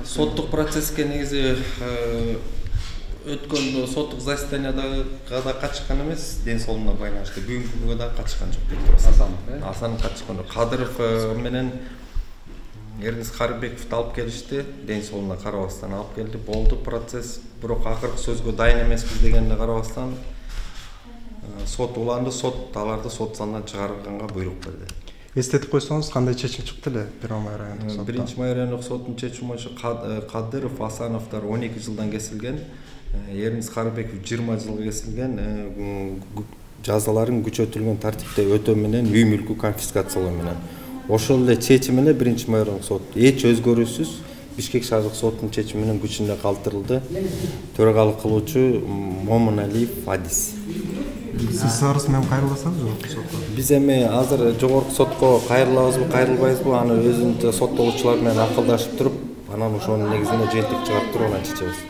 Соттук процесске негизи өткөн соттук заседанияга да катышкан эмес, ден соолугуна байланыштуу. Бүгүнкүгө да катышкан жок деп турасыз. Асанов катышкан. Кадыров менен Эрнис Карыбековду алып келишти, ден соолугуна карабастан алып келди. Болду процесс, бирок акыркы сөзгө дайын эмеспиз дегенине карабастан сот уланды, сот аларды сот залынан чыгарганга буйрук берди. Эстетип койсоңуз, кандай чечим чыкты эле Первый май райондук сотто? Биринчи май райондук соттун чечими боюнча Кадыров, Асановдор 12 жылдан кесилген, Эрнис Карыбеков 20 жылга кесилген, жазаларын күчөтүлгөн тартипте өтөө менен үй мүлкү конфискациялоо менен. Ошол эле чечим эле Биринчи май райондук сот эч өзгөрүүсүз Бишкек шаардык соттун чечими менен күчүнө калтырылды. Төрагалык кылуучу Момуналиев Адис. Сиз арыз менен кайрыласыңыз жок сотко? Биз эми азыр жогорку сотко кайрылабызбы, кайрылбайбызбы, аны өзүнүн соттолуучулар менен акылдашып туруп, анан ошонун негизинде жыйынтык чыгарып туруп анан чечебиз.